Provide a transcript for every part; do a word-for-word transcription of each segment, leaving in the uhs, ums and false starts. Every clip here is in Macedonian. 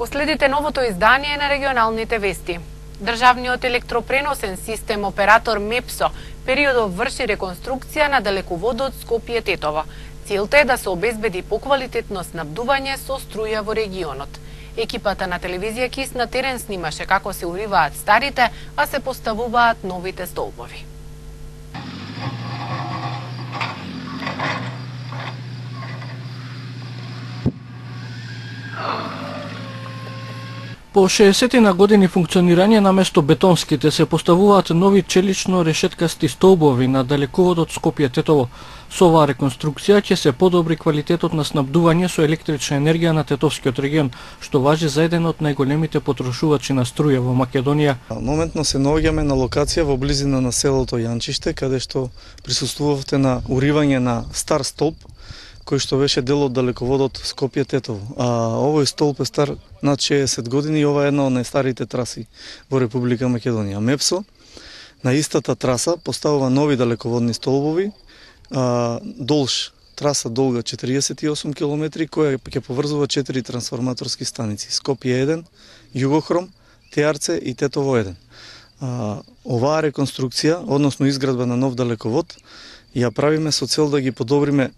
Следите новото издание на регионалните вести. Државниот електропреносен систем оператор МЕПСО периодов врши реконструкција на далеководот Скопје-Тетово. Целта е да се обезбеди поквалитетно снабдување со струја во регионот. Екипата на телевизија КИС на терен снимаше како се уриваат старите, а се поставуваат новите столбови. По шеесет на години функционирање на место бетонските се поставуваат нови челично решеткасти столбови на далеководот Скопје-Тетово. Со оваа реконструкција ќе се подобри квалитетот на снабдување со електрична енергија на Тетовскиот регион, што важи за еден од најголемите потрошувачи на струја во Македонија. Моментно се наоѓаме на локација во близина на селото Јанчиште, каде што присуствувавте на уривање на стар столб кој што беше дел од далеководот Скопје-Тетово. А овој столб е стар над шеесет години и ова е една од најстарите траси во Република Македонија. МЕПСО на истата траса поставува нови далеководни столбови, а, долж траса долга четириесет и осум километри, која ќе поврзува четири трансформаторски станици: Скопје еден, Југохром, Теарце и Тетово еден. А, оваа реконструкција, односно изградба на нов далековод, ја правиме со цел да ги подобриме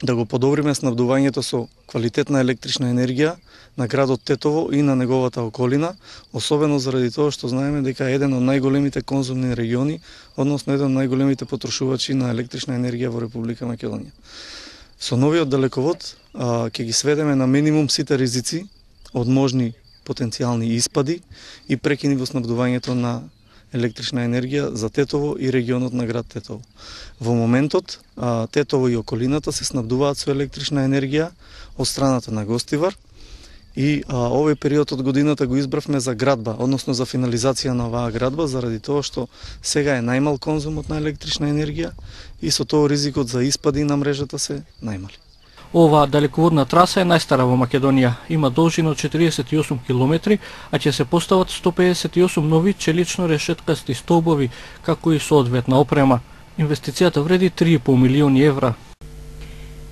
да го подобриме снабдувањето со квалитетна електрична енергија на градот Тетово и на неговата околина, особено заради тоа што знаеме дека е еден од најголемите конзумни региони, односно еден од најголемите потрошувачи на електрична енергија во Република Македонија. Со новиот далековод а, ќе ги сведеме на минимум сите ризици од можни потенцијални испади и прекини во снабдувањето на електрична енергија за Тетово и регионот на град Тетово. Во моментот а, Тетово и околината се снабдуваат со електрична енергија од страната на Гостивар и а, овој период од годината го избравме за градба, односно за финализација на оваа градба, заради тоа што сега е најмал конзумот на електрична енергија и со тоа ризикот за испади на мрежата се најмали. Оваа далеководна траса е најстара во Македонија. Има должина од четириесет и осум километри, а ќе се постават сто педесет и осум нови челично решеткасти столбови, како и соодветна опрема. Инвестицијата вреди три и пол милиони евра.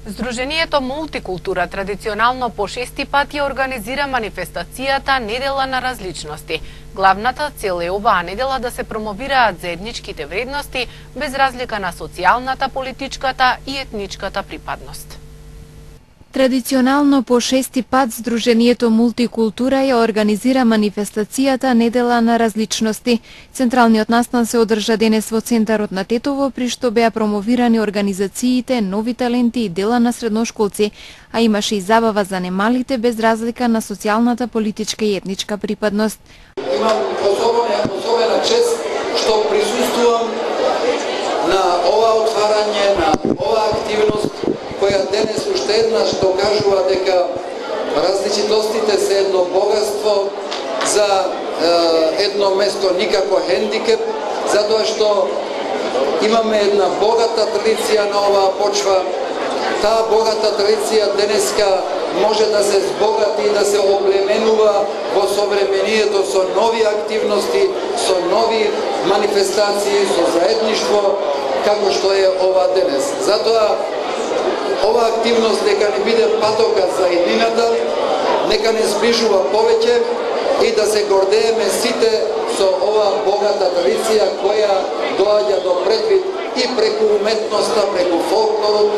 Здруженијето Мултикултура традиционално по шести пат ја организира манифестацијата Недела на различности. Главната цел е оваа недела да се промовираат заедничките вредности без разлика на социјалната, политичката и етничката припадност. Традиционално по шести пат Здруженијето Мултикултура ја организира манифестацијата Недела на различности. Централниот настан се одржа денес во центарот на Тетово, при што беа промовирани организациите, нови таленти и дела на средношколци, а имаше и забава за немалите без разлика на социјалната, политичка и етничка припадност. Имам особена, особена чест што присуствувам на ова отварање, на ова активност, која денес уште еднаш докажува дека различитостите се едно богатство, за е, едно место никако хендикеп, затоа што имаме една богата традиција на оваа почва. Таа богата традиција денеска може да се збогати и да се оплеменува во современието со нови активности, со нови манифестации, со заедништво, како што е ова денес. Затоа ова активност нека не биде патока за еднината, нека не сближува повеќе и да се гордееме сите со оваа богата традиција која доаѓа до предвид и преку уметноста, преку фолклорот,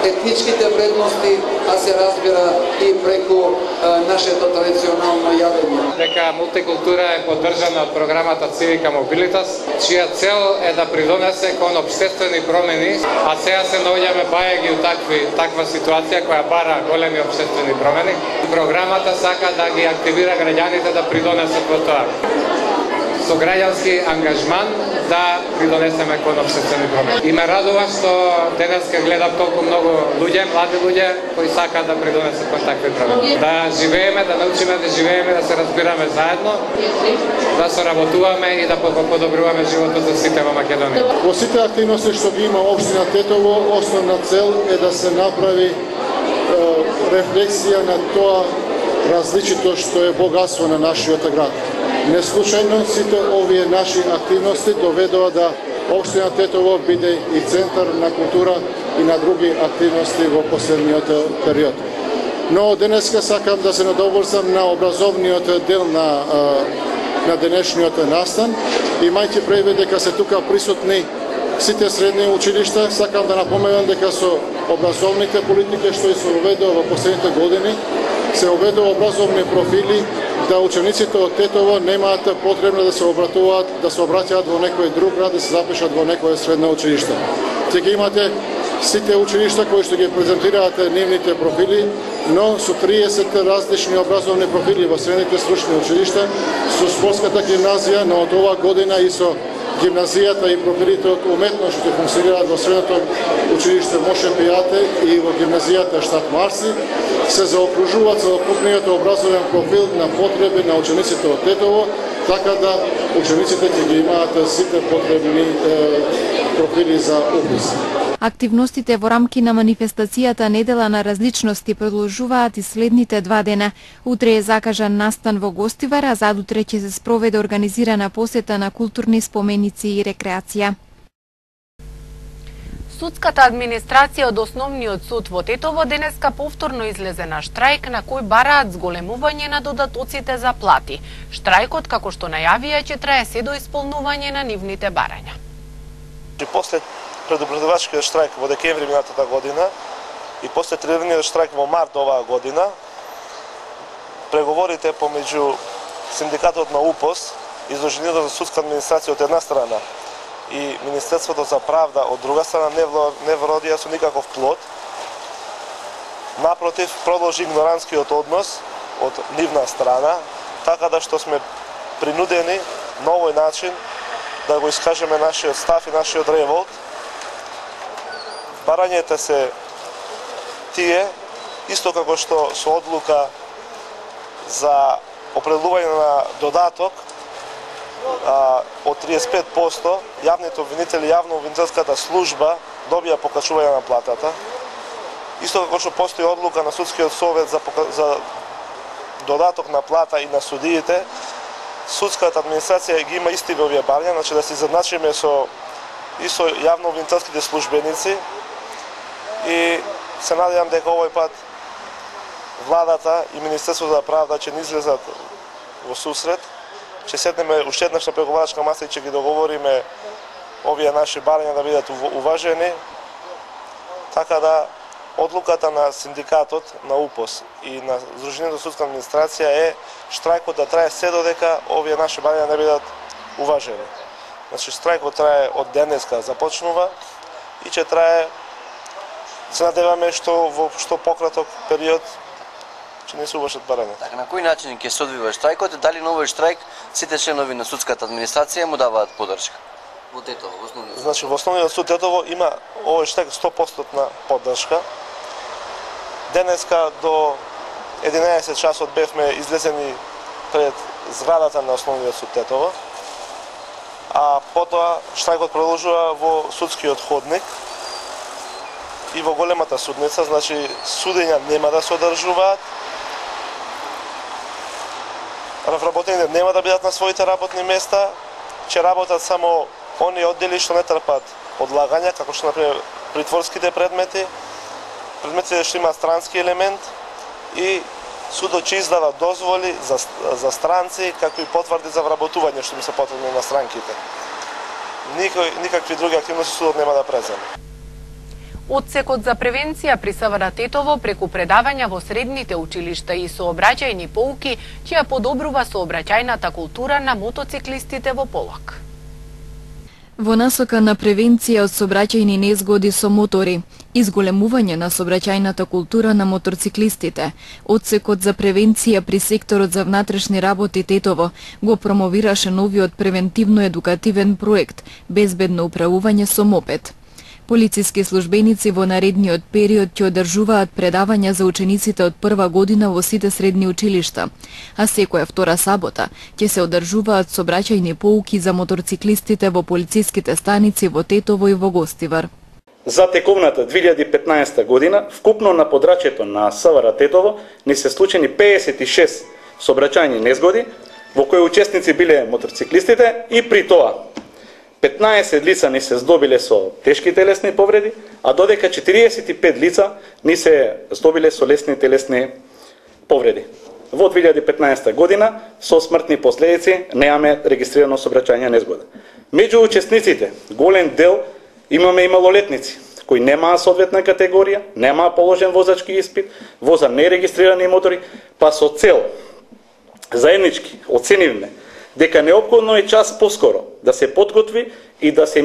етничките вредности, а се разбира и преку а, нашето традиционално јадење. Дека мултикултура е поддржана од програмата Civica Mobilitas, чија цел е да придонесе кон општествени промени, а сега се наоѓаме бајаги у такви, таква ситуација која бара големи општествени промени. Програмата сака да ги активира граѓаните да придонесат во тоа. Со граѓански ангажман да придонесеме кон општествени промени. И ме радува што денес ке гледам толку многу луѓе, млади луѓе кои сакаат да придонесат кон такви промени. Да живееме, да научиме да живееме, да се разбираме заедно, да соработуваме и да подобруваме животот за сите во Македонија. Во сите активности што ги има општина Тетово, основна цел е да се направи е, рефлексија на тоа различито што е богатство на нашиот град. Не случајно сите овие наши активности доведува да општина Тетово биде и центар на култура и на други активности во последниот период. Но денеска сакам да се надоврзам на образовниот дел на, на денешниот настан. Имајќи предвид дека се тука присутни сите средни училишта, сакам да напоменам дека со образовните политики што се уведува во последните години, се уведува образовни профили да учениците од Тетово немаат потребно да се обратуваат, да се обраќаат во некој друг град, да се запишат во некое средно училиште. Те ги имате сите училишта кои што ги презентираат нивните профили, но со триесет различни образовни профили во средните стручни училишта, со спортската гимназија, но од оваа година и со гимназијата и профилите од уметност што функционираат во средното училиште Моше Пијате и во гимназијата Штат Марси, се заокружуваат целокупниот образовен профил на потреби на учениците од Тетово, така да учениците ќе ги имаат сите потребни е, профили за упис. Активностите во рамки на манифестацијата Недела на различности продолжуваат и следните два дена. Утре е закажан настан во Гостивар, а задутре ќе се спроведе организирана посета на културни споменици и рекреација. Судската администрација од Основниот суд во Тетово денеска повторно излезе на штрајк на кој бараат зголемување на додатоците за плати. Штрајкот, како што најавија, ќе трае се до исполнување на нивните барања. После предупредувачкиот штрајк во декември минатата година и после тридневниот штрајк во март оваа година, преговорите помеѓу синдикатот на УПОС и Издруженијето за судска администрација од една страна и Министерството за правда од друга страна не вродија со никаков плод. Напротив, продолжи игнорантскиот однос од нивна страна, така да што сме принудени на овој начин да го искажеме нашиот став и нашиот револт. Барањата се тие, исто како што со одлука за определување на додаток а, од триесет и пет проценти, јавните обвинители, јавно-обвинителската служба добија покачување на платата. Исто како што постои одлука на Судскиот совет за, за додаток на плата и на судиите, судската администрација ги има исти овие барања, значи да се изедначиме со и со јавно-обвинителските службеници, и се надевам дека овој пат владата и Министерството за правда ќе ни излезат во сусрет, ќе седнеме уште еднаш на преговарачка маса и ќе ги договориме овие наши барања да бидат уважени, така да одлуката на синдикатот на УПОС и на Издруженијето за судска администрација е штрајкот да трае се додека овие наши барања не бидат уважени. Значи штрајкот трае од денеска започнува и ќе трае, се надеваме што во што пократок период ќе не се увршат барања. Така, на кој начин ќе се одвива штрајкот? Дали на овој штрајк сите членови на судската администрација му даваат подршка? Во Тетово, во Основниот суд. Значи во Основниот суд Тетово има овој штрајк сто проценти поддршка. Денеска до единаесет часот бевме излезени пред зградата на Основниот суд Тетово, а потоа штрајкот продолжува во судскиот ходник и во големата судница, значи судења нема да се одржуваат, вработените нема да бидат на своите работни места, ќе работат само оние оддели што не трпат одлагања, како што например притворските предмети, предметите што имаат странски елемент, и судот ќе издава дозволи за, за странци, како и потврди за вработување што им се потребни на странките. Никој, никакви други активности судот нема да преземе. Одсекот за превенција при СВР Тетово преку предавања во средните училишта и сообраќајни поуки ќе ја подобрува сообраќајната култура на мотоциклистите во Полак. Во насока на превенција од сообраќајни незгоди со мотори, изголемување на сообраќајната култура на моторциклистите, Одсекот за превенција при секторот за внатрешни работи Тетово го промовираше новиот превентивно-едукативен проект Безбедно управување со мопед. Полициски службеници во наредниот период ќе одржуваат предавања за учениците од прва година во сите средни училишта, а секоја втора сабота ќе се одржуваат сообраќајни поуки за моторциклистите во полициските станици во Тетово и во Гостивар. За тековната две илјади и петнаесета година, вкупно на подрачјето на СВР Тетово не се случени пеесет и шест сообраќајни незгоди, во кои учесници биле моторциклистите, и при тоа петнаесет лица ни се здобиле со тешки телесни повреди, а додека четириесет и пет лица ни се здобиле со лесни телесни повреди. Во две илјади и петнаесета година со смртни последици немаме регистрирано сообраќајна незгода. Меѓу учесниците, голем дел имаме и малолетници кои немаа соодветна категорија, немаа положен возачки испит, воза нерегистрирани мотори, па со цел заеднички оценивме дека неопходно е час поскоро да се подготви и да се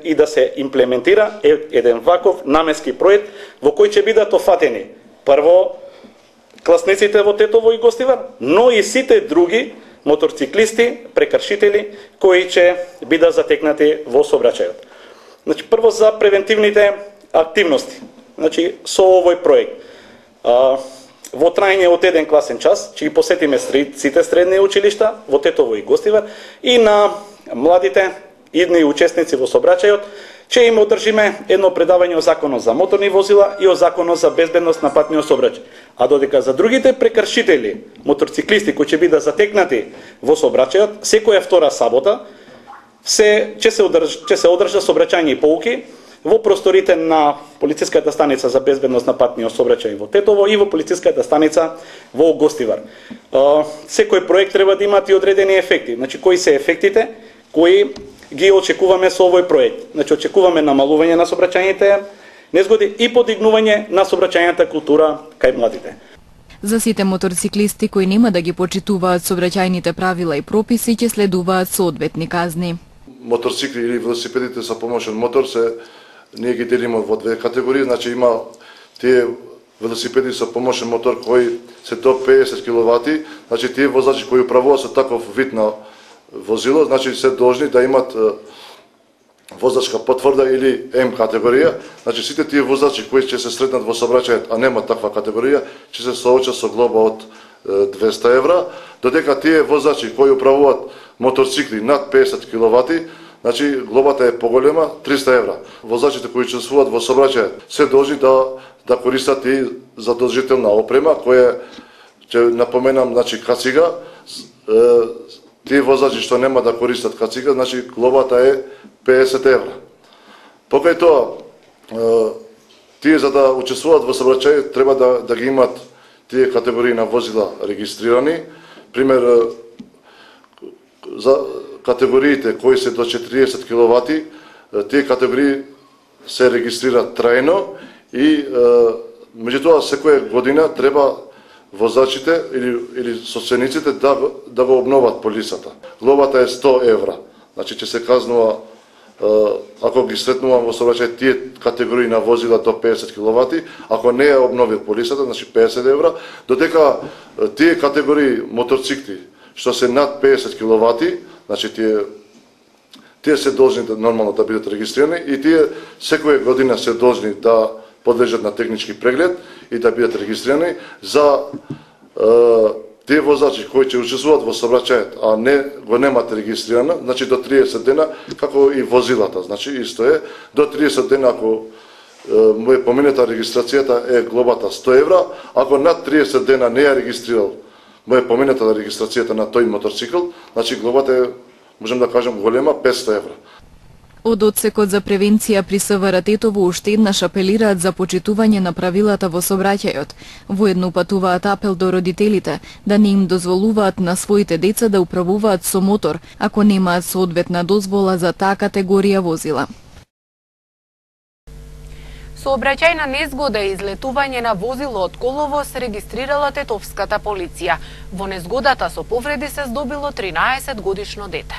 и да се имплементира еден ваков наменски проект во кој ќе бидат офатени прво класниците во Тетово и Гостивар, но и сите други моторциклисти, прекршители кои ќе бидат затекнати во сообраќајот. Значи прво за превентивните активности. Значи со овој проект а, во трајање од еден класен час ќе ги посетиме сите средни училишта во Тетово и Гостивар и на младите идни учесници во сообраќајот ќе им одржиме едно предавање о законот за моторни возила и о законот за безбедност на патниот сообраќај. А додека за другите прекршители, моторциклисти кои ќе бидат затекнати во сообраќајот, секоја втора сабота се ќе се одржа ќе се одржа сообраќајни поуки во просторите на полициската станица за безбедност на патниот сообраќај во Тетово и во полициската станица во Гостивар. Секој проект треба да има и одредени ефекти. Значи кои се ефектите кои ги очекуваме со овој проект? Значи очекуваме намалување на сообраќајните незгоди и подигнување на сообраќајната култура кај младите. За сите моторциклисти кои нема да ги почитуваат сообраќајните правила и прописи ќе следуваат соодветни казни. Моторцикли или велосипедите со помошен мотор се ние ги делиме во две категории, значи има тие велосипеди со помошен мотор кои се до педесет киловати, значи тие возачи кои управуваат со таков вид на возило, значи се должни да имат возачка потврда или М категорија, значи сите тие возачи кои ќе се сретнат во сообраќајот, а нема таква категорија, ќе се соочат со глоба од двесте евра, додека тие возачи кои управуваат моторцикли над педесет киловати, значи глобата е поголема, триста евра. Возачите кои учествуваат во сообраќајот се должни да да користат и задолжителна опрема која ќе напоменам, значи кацига. Тие возачи што нема да користат кацига, значи глобата е педесет евра. Покај тоа, тие за да учествуваат во сообраќај треба да да ги имат тие категории на возила регистрирани. Пример, за категориите кои се до четириесет киловати, тие категории се регистрираат трајно и меѓутоа секоја година треба возачите или или собствениците да да го обноват полисата. Глобата е сто евра. Значи ќе се казнува ако ги сретнувам во сообраќај тие категории на возила до педесет киловати, ако не ја обновил полисата, значи педесет евра, додека тие категории моторцикли што се над педесет киловати, значи тие тие се должни да нормално да бидат регистрирани и тие секоја година се должни да подлежат на технички преглед и да бидат регистрирани. За е, тие возачи кои ќе учествуваат во сообраќајот, а не го немат регистрирано, значи до триесет дена, како и возилата, значи исто е, до триесет дена ако му е поминета регистрацијата е глобата сто евра, ако над триесет дена не ја регистрирал, му е поминета регистрацијата на тој моторцикл, значи глобата е, можем да кажем, голема петсто евра. Од Одсекот за превенција при СВР Тетово уште еднаш апелираат за почитување на правилата во сообраќајот. Воедно упатуваат апел до родителите да не им дозволуваат на своите деца да управуваат со мотор ако немаат соодветна дозвола за таа категорија возила. Сообраќајна незгода и излетување на возило од коловоз регистрирала тетовската полиција. Во незгодата со повреди се здобило тринаесет годишно дете.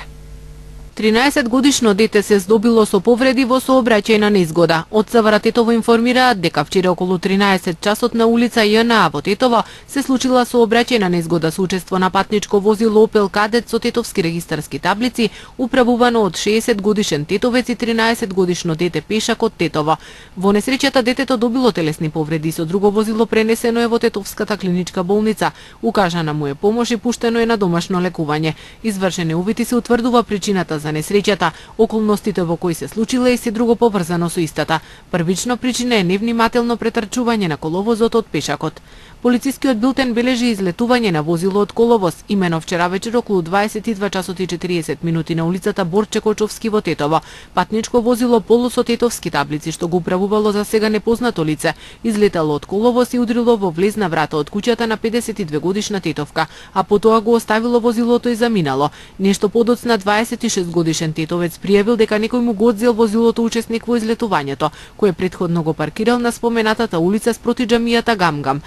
тринаесет годишно дете се здобило со повреди во сообраќајна незгода. Од СВР Тетово информираат дека вчера околу тринаесет часот на улица ЈНА во Тетово се случила сообраќајна незгода со учество на патничко возило Опел Кадет со тетовски регистарски таблици, управувано од шеесет годишен тетовец и тринаесет годишно дете пешак од Тетово. Во несреќата детето добило телесни повреди, со друго возило пренесено е во Тетовската клиничка болница. Укажана му е помош и пуштено е на домашно лекување. Извршени увити се утврдува причината за несреќата, околностите во кои се случила и се друго поврзано со истата. Првично причина е невнимателно претрчување на коловозот од пешакот. Полицискиот билтен бележи излетување на возило од коловоз, имено вчера вечер околу дваесет и два часот и четириесет минути на улицата Борче Кочовски во Тетово. Патничко возило полу со тетовски таблици што го управувало за сега непознато лице, излетало од коловоз и удрило во влезна врата од куќата на педесет и две годишна тетовка, а потоа го оставило возилото и заминало. Нешто подоцна дваесет и шест годишен тетовец пријавил дека некој му го одзел возилото учесник во излетувањето, кој претходно го паркирал на споменатата улица спроти џамијата Гамгам.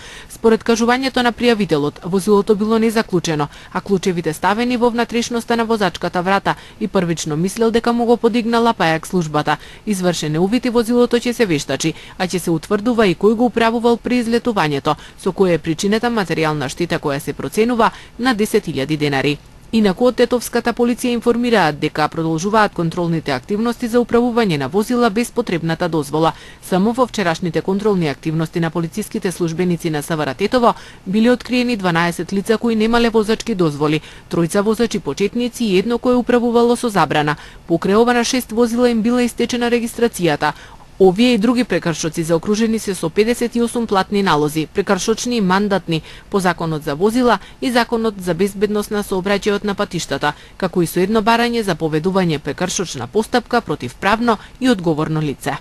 Според кажувањето на пријавителот, возилото било незаклучено, а клучевите ставени во внатрешноста на возачката врата и првично мислел дека му го подигнала пајак службата. Извршен е увид и возилото ќе се вештачи, а ќе се утврдува и кој го управувал при излетувањето, со која е причината материјална штета која се проценува на десет илјади денари. Инаку од тетовската полиција информираат дека продолжуваат контролните активности за управување на возила без потребната дозвола. Само во вчерашните контролни активности на полициските службеници на СВР Тетово биле откриени дванаесет лица кои немале возачки дозволи, тројца возачи почетници и едно кое управувало со забрана. Покрај ова на шест возила им била истечена регистрацијата. Овие и други прекршоци заокружени се со педесет и осум платни налози, прекршочни и мандатни по Законот за возила и Законот за безбедност на сообраќајот на патиштата, како и со едно барање за поведување прекршочна постапка против правно и одговорно лице.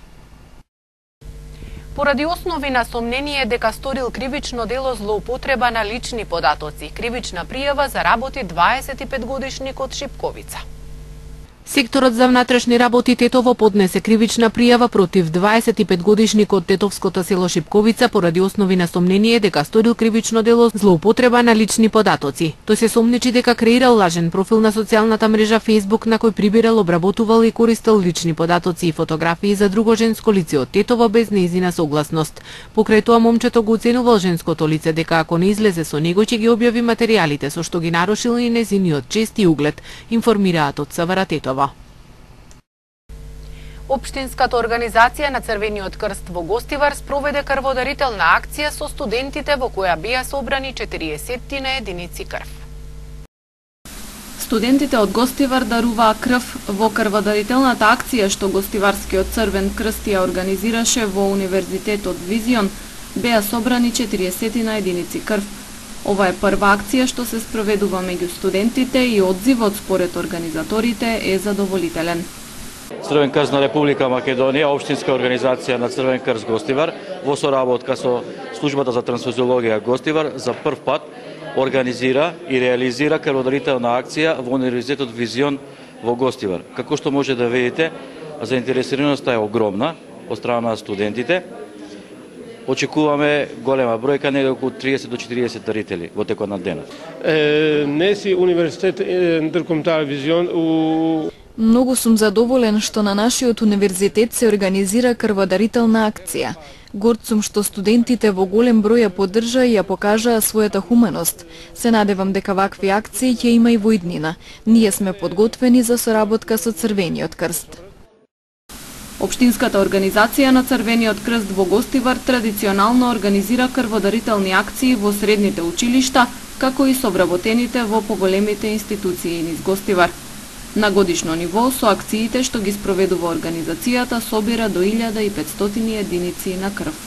Поради основи на сомнение дека сторил кривично дело злоупотреба на лични податоци, кривична пријава заработи дваесет и пет годишникот Шипковица. Секторот за внатрешни работи Тетово поднесе кривична пријава против дваесет и пет годишникот тетовското село Шипковица поради основи на сомнение дека сторил кривично дело злоупотреба на лични податоци. Тој се сомничи дека креирал лажен профил на социјалната мрежа Facebook на кој прибирал, обработувал и користел лични податоци и фотографии за друго женско лице од Тетово без нејзина согласност. Покрај тоа момчето го оценувал женското лице дека ако не излезе со него ќе ги објави материјалите со што ги нарушил и нејзиниот чест и углед, информираат од СВР Тетово. Општинската организација на Црвениот крст во Гостивар спроведе крводарителна акција со студентите во која беа собрани четириесет единици крв. Студентите од Гостивар даруваа крв во крводарителната акција што Гостиварскиот Црвен крст ја организираше во Универзитетот Визион, беа собрани четириесет единици крв. Ова е прва акција што се спроведува меѓу студентите и одзивот според организаторите е задоволителен. Црвен крст на Република Македонија, општинска организација на Црвен крст Гостивар, во соработка со службата за трансфузиологија Гостивар, за прв пат организира и реализира крводарителна акција во Универзитетот Визион во Гостивар. Како што може да видите, заинтересираноста е огромна од страна на студентите. Очекуваме голема бројка, негде околу триесет до четириесет дарители во текот на денот. Неси универзитет интеркомунитар Визион у Многу сум задоволен што на нашиот универзитет се организира крводарителна акција. Горд сум што студентите во голем број ја поддржаа и ја покажаа својата хуманост. Се надевам дека вакви акции ќе има и во иднина. Ние сме подготвени за соработка со Црвениот крст. Општинската организација на Црвениот крст во Гостивар традиционално организира крводарителни акции во средните училишта, како и со вработените во поголемите институции низ Гостивар. На годишно ниво, со акциите што ги спроведува организацијата, собира до илјада и петстотини единици на крв.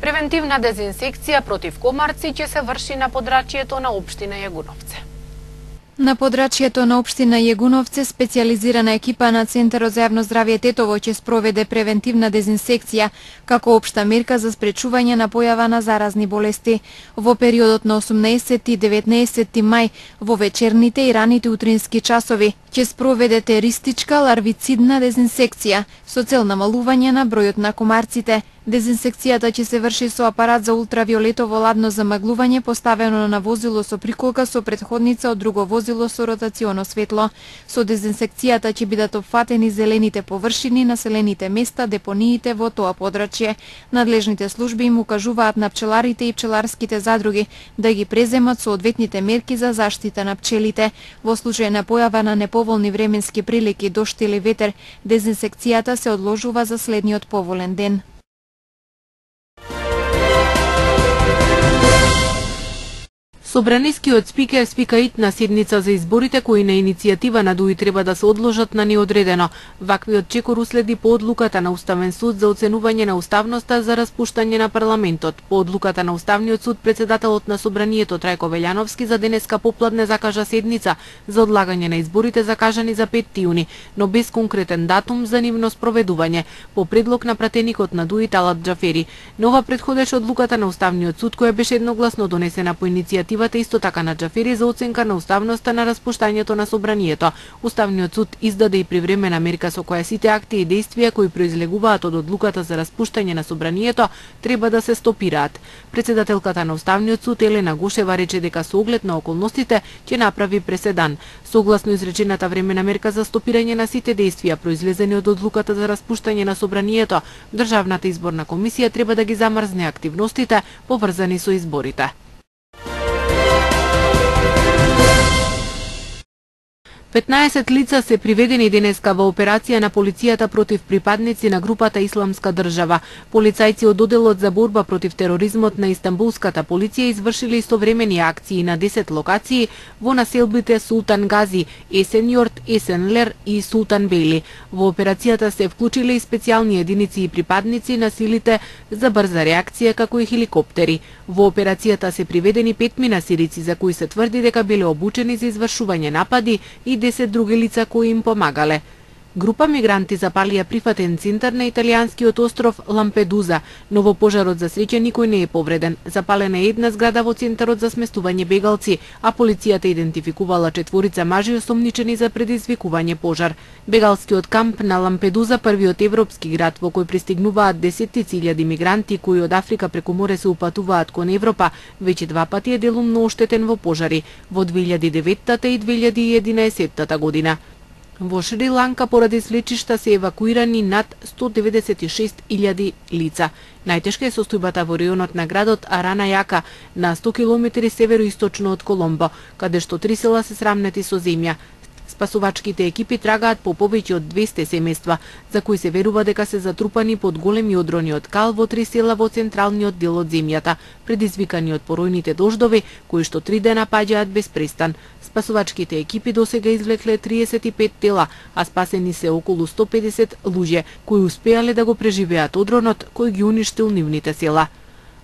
Превентивна дезинсекција против комарци ќе се врши на подрачјето на општина Јагуновце. На подрачјето на општина Јагуновце, специјализирана екипа на Центарот за јавно здравје Тетово ќе спроведе превентивна дезинсекција како општа мерка за спречување на појава на заразни болести. Во периодот на осумнаесети и деветнаесети мај, во вечерните и раните утрински часови, ќе спроведете ристичка ларвицидна дезинсекција со цел намалување на бројот на комарците. Дезинсекцијата ќе се врши со апарат за ултравиолетово ладно замаглување поставено на возило со приколка со претходница од друго возило со ротационо светло. Со дезинсекцијата ќе бидат опфатени зелените површини, населените места, депониите во тоа подрачје. Надлежните служби им укажуваат на пчеларите и пчеларските задруги да ги преземат соодветните мерки за заштита на пчелите. Во случај на појава на неповолни временски прилики, дожд или ветер, дезинсекцијата се одложува за следниот поволен ден. Собранискиот спикер спика итна седница за изборите кои на иницијатива на ДУИ треба да се одложат на неодредено. Ваквиот чекор уследи по одлуката на Уставен суд за оценување на уставноста за распуштање на парламентот. По одлуката на Уставниот суд председателот на Собранието Трајко Велјановски за денеска попладне закажа седница за одлагање на изборите закажани за петти јуни, но без конкретен датум за нивно спроведување, по предлог на пратеникот на ДУИ Талат Џафери. Нова предходеше одлуката на Уставниот суд која беше едногласно донесена по иницијатива исто така на Џафери за оценка на уставноста на распуштањето на Собранието. Уставниот суд издаде и привремена мерка со која сите акти и действија кои произлегуваат од одлуката за распуштање на Собранието треба да се стопираат. Председателката на Уставниот суд Елена Гошева рече дека со оглед на околностите ќе направи преседан. Согласно изречената времена мерка за стопирање на сите действија произлезени од одлуката за распуштање на Собранието, Државната изборна комисија треба да ги замрзне активностите поврзани со изборите. петнаесет лица се приведени денеска во операција на полицијата против припадници на групата Исламска држава. Полицајци од одделот за борба против тероризмот на Истанбулската полиција извршиле истовремени акции на десет локации во населбите Султан Гази, Есенјорд, Есенлер и Султан Бейли. Во операцијата се вклучиле и специјални единици и припадници на силите за брза реакција како и хеликоптери. Во операцијата се приведени пет минасирици за кои се тврди дека биле обучени за извршување напади и десет други лица кои им помагале. Група мигранти запалија прифатен центар на италијанскиот остров Лампедуза, но во пожарот за среќа никој не е повреден. Запалена е една зграда во центарот за сместување бегалци, а полицијата идентификувала четворица мажи осомничени за предизвикување пожар. Бегалскиот камп на Лампедуза, првиот европски град во кој пристигнуваат десеттици илјади мигранти кои од Африка преку море се упатуваат кон Европа, веќе два пати е делумно оштетен во пожари, во две илјади и деветта и две илјади и единаесетта година. Во Шри Ланка поради слечишта се евакуирани над сто деветдесет и шест илјади лица. Најтешка е состојбата во районот на градот Аранајака, на сто километри североисточно од Коломбо, каде што три села се срамнети со земја. Спасувачките екипи трагаат по повеќе од двесте семејства, за кои се верува дека се затрупани под големи одрони од кал во три села во централниот дел од земјата, предизвикани од поројните дождови, кои што три дена паѓаат без престан. Спасувачките екипи досега извлекле триесет и пет тела, а спасени се околу сто педесет луѓе, кои успеале да го преживеат одронот кој ги уништил нивните села.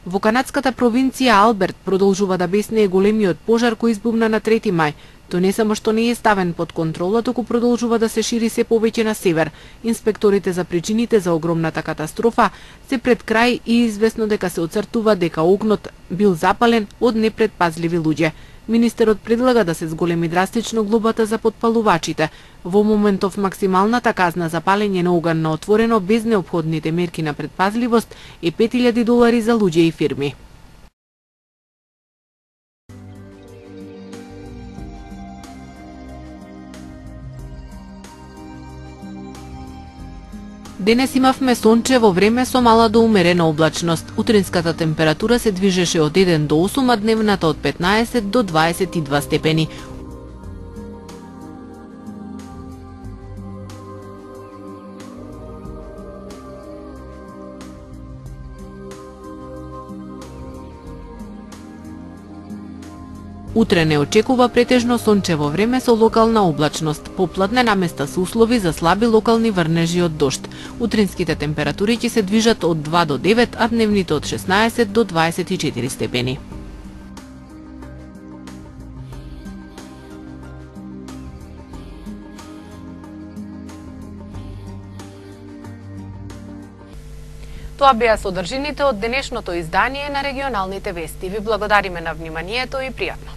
Во канадската провинција Алберт продолжува да беснее големиот пожар кој избумна на трети мај. Тој не само што не е ставен под контрола, туку продолжува да се шири се повеќе на север. Инспекторите за причините за огромната катастрофа се пред крај и известно дека се оцртува дека огнот бил запален од непредпазливи луѓе. Министерот предлага да се зголеми драстично глобата за потпалувачите. Во моментов максималната казна за палење на оган на отворено без неопходните мерки на предпазливост е пет илјади долари за луѓе и фирми. Денес имавме сончево време со мала до умерена облачност. Утринската температура се движеше од еден до осум, а дневната од петнаесет до дваесет и два степени. Утре не очекува претежно сончево време со локална облачност. Попладне наместа се услови за слаби локални врнежи од дожд. Утринските температури ќе се движат од два до девет, а дневните од шеснаесет до дваесет и четири степени. Тоа беа содржините од денешното издание на регионалните вести. Ви благодариме на вниманието и пријатно.